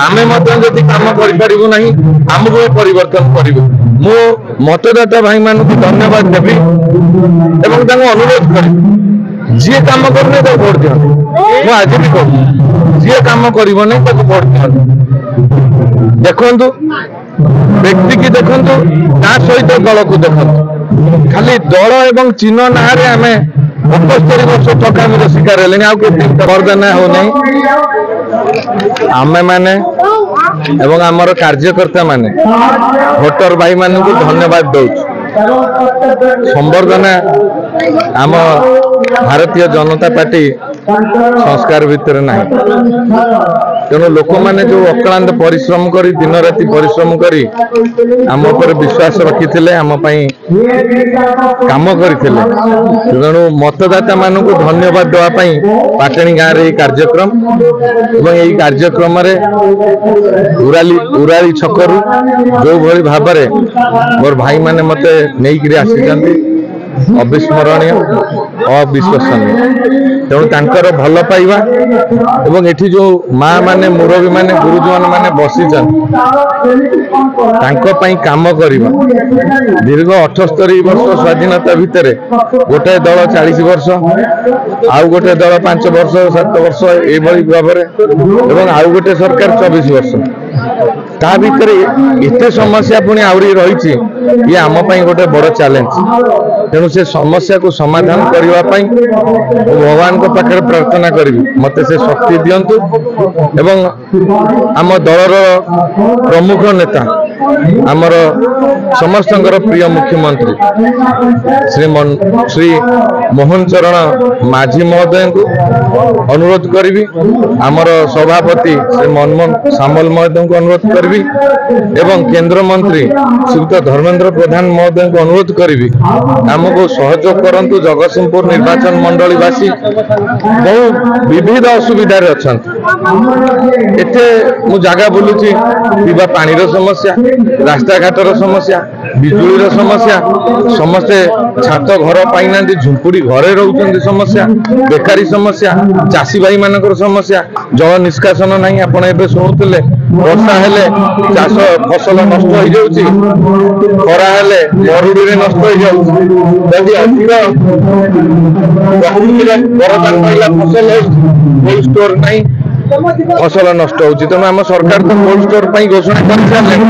ଆମେ ମଧ୍ୟ ଯଦି କାମ କରିପାରିବୁ ନାହିଁ, ଆମକୁ ବି ପରିବର୍ତ୍ତନ କରିବୁ। ମୁଁ ମତଦାତା ଭାଇମାନଙ୍କୁ ଧନ୍ୟବାଦ ଦେବି ଏବଂ ତାଙ୍କୁ ଅନୁରୋଧ କରିବି, ଯିଏ କାମ କରୁନି ତାକୁ ଭୋଟ ଦିଅନ୍ତୁ। ମୁଁ ଆଜି ବି କହୁଛି, ଯିଏ କାମ କରିବନି ତାକୁ ଭୋଟ ଦିଅନ୍ତୁ। ଦେଖନ୍ତୁ, ବ୍ୟକ୍ତିକି ଦେଖନ୍ତୁ, ତା ସହିତ ଦଳକୁ ଦେଖନ୍ତୁ। ଖାଲି ଦଳ ଏବଂ ଚିହ୍ନ ନାଁରେ ଆମେ 78 ବର୍ଷ ଠକାମିର ଶିକାର ହେଲେଣି, ଆଉ କେତେ ବର୍ଦ୍ଧନା ହଉନାହିଁ। ଆମେମାନେ ଏବଂ ଆମର କାର୍ଯ୍ୟକର୍ତ୍ତା ମାନେ ଭୋଟର ଭାଇମାନଙ୍କୁ ଧନ୍ୟବାଦ ଦଉଛୁ। ସମ୍ବର୍ଦ୍ଧନା ଆମ ଭାରତୀୟ ଜନତା ପାର୍ଟି ସଂସ୍କାର ଭିତରେ ନାହିଁ। ତେଣୁ ଲୋକମାନେ ଯୋଉ ଅକ୍ଳାନ୍ତ ପରିଶ୍ରମ କରି, ଦିନ ରାତି ପରିଶ୍ରମ କରି ଆମ ଉପରେ ବିଶ୍ୱାସ ରଖିଥିଲେ, ଆମ ପାଇଁ କାମ କରିଥିଲେ, ତେଣୁ ମତଦାତା ମାନଙ୍କୁ ଧନ୍ୟବାଦ ଦେବା ପାଇଁ ପାଟଣୀ ଗାଁରେ ଏହି କାର୍ଯ୍ୟକ୍ରମ। ଏବଂ ଏହି କାର୍ଯ୍ୟକ୍ରମରେ ଉରାଳି ଛକରୁ ଯୋଉଭଳି ଭାବରେ ମୋର ଭାଇମାନେ ମତେ ନେଇକିରି ଆସିଛନ୍ତି, ଅବିସ୍ମରଣୀୟ, ଅବିଶ୍ୱସନୀୟ। ତେଣୁ ତାଙ୍କର ଭଲ ପାଇବା ଏବଂ ଏଠି ଯୋଉ ମା ମାନେ, ମୁରବୀ ମାନେ, ଗୁରୁଜନ ମାନେ ବସିଛନ୍ତି, ତାଙ୍କ ପାଇଁ କାମ କରିବା। ଦୀର୍ଘ 78 ବର୍ଷ ସ୍ୱାଧୀନତା ଭିତରେ ଗୋଟାଏ ଦଳ 40 ବର୍ଷ, ଆଉ ଗୋଟେ ଦଳ 5 ବର୍ଷ, 7 ବର୍ଷ ଏଇଭଳି ଭାବରେ, ଏବଂ ଆଉ ଗୋଟେ ସରକାର 24 ବର୍ଷ। ତା ଭିତରେ ଏତେ ସମସ୍ୟା ପୁଣି ଆହୁରି ରହିଛି, ଇଏ ଆମ ପାଇଁ ଗୋଟେ ବଡ ଚ୍ୟାଲେଞ୍ଜ। ତେଣୁ ସେ ସମସ୍ୟାକୁ ସମାଧାନ କରିବା ପାଇଁ ମୁଁ ଭଗବାନଙ୍କ ପାଖରେ ପ୍ରାର୍ଥନା କରିବି, ମତେ ସେ ଶକ୍ତି ଦିଅନ୍ତୁ। ଏବଂ ଆମ ଦଳର ପ୍ରମୁଖ ନେତା, ଆମର ସମସ୍ତଙ୍କର ପ୍ରିୟ ମୁଖ୍ୟମନ୍ତ୍ରୀ ଶ୍ରୀ ମୋହନ ଚରଣ ମାଝୀ ମହୋଦୟଙ୍କୁ ଅନୁରୋଧ କରିବି, ଆମର ସଭାପତି ଶ୍ରୀ ମନମୋହନ ସାମଲ ମହୋଦୟଙ୍କୁ ଅନୁରୋଧ କରିବି ଏବଂ କେନ୍ଦ୍ରମନ୍ତ୍ରୀ ଶ୍ରୀଯୁକ୍ତ ଧର୍ମେନ୍ଦ୍ର ପ୍ରଧାନ ମହୋଦୟଙ୍କୁ ଅନୁରୋଧ କରିବି, ଆମକୁ ସହଯୋଗ କରନ୍ତୁ। ଜଗତସିଂହପୁର ନିର୍ବାଚନ ମଣ୍ଡଳୀବାସୀ ବହୁ ବିବିଧ ଅସୁବିଧାରେ ଅଛନ୍ତି। ଏତେ ମୁଁ ଜାଗା ବୁଲୁଛି, ପିଇବା ପାଣିର ସମସ୍ୟା, ରାସ୍ତାଘାଟର ସମସ୍ୟା, ବିଜୁଳିର ସମସ୍ୟା, ସମସ୍ତେ ଛାତ ଘର ପାଇନାହାନ୍ତି, ଝୁମ୍ପୁଡି ଘରେ ରହୁଛନ୍ତି ସମସ୍ୟା, ବେକାରୀ ସମସ୍ୟା, ଚାଷୀ ଭାଇ ମାନଙ୍କର ସମସ୍ୟା, ଜଳ ନିଷ୍କାସନ ନାହିଁ। ଆପଣ ଏବେ ଶୁଣୁଥିଲେ, ବର୍ଷା ହେଲେ ଚାଷ ଫସଲ ନଷ୍ଟ ହେଇଯାଉଛି, ଖରା ହେଲେ ମରୁଡ଼ିରେ ନଷ୍ଟ ହେଇଯାଉଛି। ଯଦି ଅଧିକ ପ୍ରକୃତିର ବରଦାନ ପାଇଲା ଫସଲ ହେଉଛି, କୋଲ୍ଡ ଷ୍ଟୋର ନାହିଁ, ଫସଲ ନଷ୍ଟ ହଉଛି। ତେଣୁ ଆମ ସରକାର ତ କୋଲ୍ଡ ଷ୍ଟୋର ପାଇଁ ଘୋଷଣା କରିସାରିଲେଣି,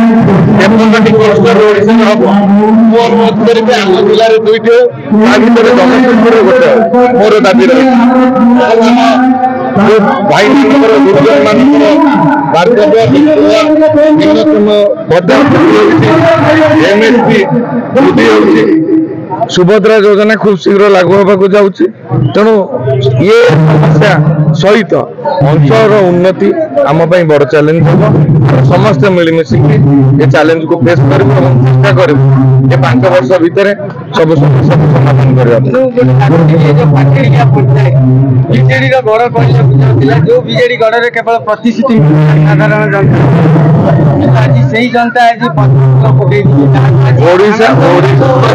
53ଟି କୋଲ୍ଡ ଷ୍ଟୋର ଓଡ଼ିଶାରେ ହବ। ମୁଁ ଅନୁରୋଧ କରିବି, ଆମ ଜିଲ୍ଲାରେ 2ଟି ହଉ, ତା ଭିତରେ ଜଗତସିଂହପୁରରେ ଗୋଟେ ହଉ, ମୋର ଦାବି ରହିଛି। ଭାଇମାନଙ୍କର, ଗୁରୁଜନ ମାନଙ୍କର ବାର୍ଦ୍ଧକ୍ୟ ନ୍ୟୁନତମ ଭତ୍ତା ବୃଦ୍ଧି ହେଉଛି, ଏମଏସପି ବୃଦ୍ଧି ହେଉଛି, ସୁଭଦ୍ରା ଯୋଜନା ଖୁବ ଶୀଘ୍ର ଲାଗୁ ହେବାକୁ ଯାଉଛି। ତେଣୁ ଇଏ ସମସ୍ୟା ସହିତ ଅଞ୍ଚଳର ଉନ୍ନତି ଆମ ପାଇଁ ବଡ ଚ୍ୟାଲେଞ୍ଜ ହେବ। ସମସ୍ତେ ମିଳିମିଶିକି ଏ ଚ୍ୟାଲେଞ୍ଜକୁ ଫେସ୍ କରିବୁ ଏବଂ ଚେଷ୍ଟା କରିବୁ ଏ 5 ବର୍ଷ ଭିତରେ ସବୁ ସମସ୍ୟାକୁ ସମାଧାନ କରିବା ପାଇଁ। ବିଜେଡିର ଗଡ କହିବାକୁ ଯାଉଥିଲା, ଯୋଉ ବିଜେଡି ଗଡରେ କେବଳ ପ୍ରତିଶ୍ରୁତି ସାଧାରଣ ଜନତା, ଆଜି ସେଇ ଜନତା ଆଜି ପକେଇ ଓଡିଶା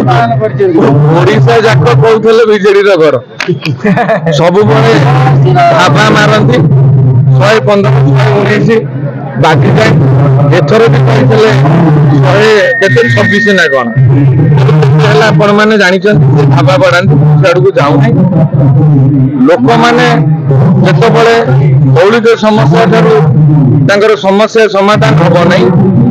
ପାଳନ କରିଛନ୍ତି। ଓଡିଶା ଯାକ କହୁଥିଲେ ବିଜେଡିର ଘର, ସବୁବେଳେ ଢାବା ମାରନ୍ତି 115, 119 ବାକି ଯାଏ। ଏଥର ବି କହିଥିଲେ ଶହେ କେତେ 26 ନା କଣ ହେଲା, ଆପଣ ମାନେ ଜାଣିଛନ୍ତି, ଢାବା ବାଡ଼ାନ୍ତି, ସିଆଡକୁ ଯାଉନାହିଁ। ଲୋକମାନେ ଯେତେବେଳେ ମୌଳିକ ସମସ୍ୟା ଠାରୁ ତାଙ୍କର ସମସ୍ୟା ସମାଧାନ ହବ ନାହିଁ,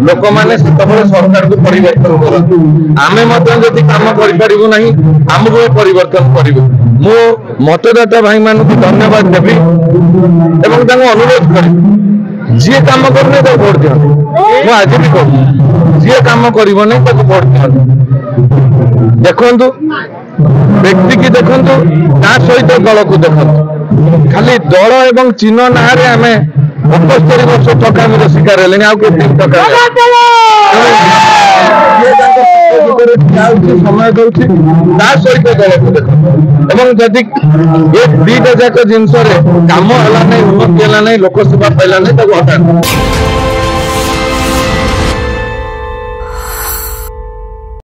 ଲୋକମାନେ ସେତେବେଳେ ସରକାରକୁ ପରିବର୍ତ୍ତନ କରନ୍ତି। ଆମେ ମଧ୍ୟ ଯଦି କାମ କରିପାରିବୁ ନାହିଁ, ଆମକୁ ବି ପରିବର୍ତ୍ତନ କରିବୁ। ମୁଁ ମତଦାତା ଭାଇମାନଙ୍କୁ ଧନ୍ୟବାଦ ଦେବି ଏବଂ ତାଙ୍କୁ ଅନୁରୋଧ କରିବି, ଯିଏ କାମ କରୁନି ତାକୁ ଭୋଟ ଦିଅନ୍ତୁ। ମୁଁ ଆଜି ବି କହୁଛି, ଯିଏ କାମ କରିବନି ତାକୁ ଭୋଟ ଦିଅନ୍ତୁ। ଦେଖନ୍ତୁ, ବ୍ୟକ୍ତିକି ଦେଖନ୍ତୁ, ତା ସହିତ ଦଳକୁ ଦେଖନ୍ତୁ। ଖାଲି ଦଳ ଏବଂ ଚିହ୍ନ ନାଁରେ ଆମେ 78 ବର୍ଷ ଠକାମିର ଶିକାର ହେଲେଣି, ଆଉ କେତେ ଠକାମି? ସମୟ ଦଉଛି, ତା ସହିତ ଦଳକୁ ଦେଖନ୍ତୁ। ଏବଂ ଯଦି ଏ ଦିଟା ଯାକ ଜିନିଷରେ କାମ ହେଲା ନାହିଁ, ଉନ୍ନତି ହେଲା ନାହିଁ, ଲୋକସେବା ପାଇଲା ନାହିଁ, ତାକୁ ହଟାନ୍ତୁ।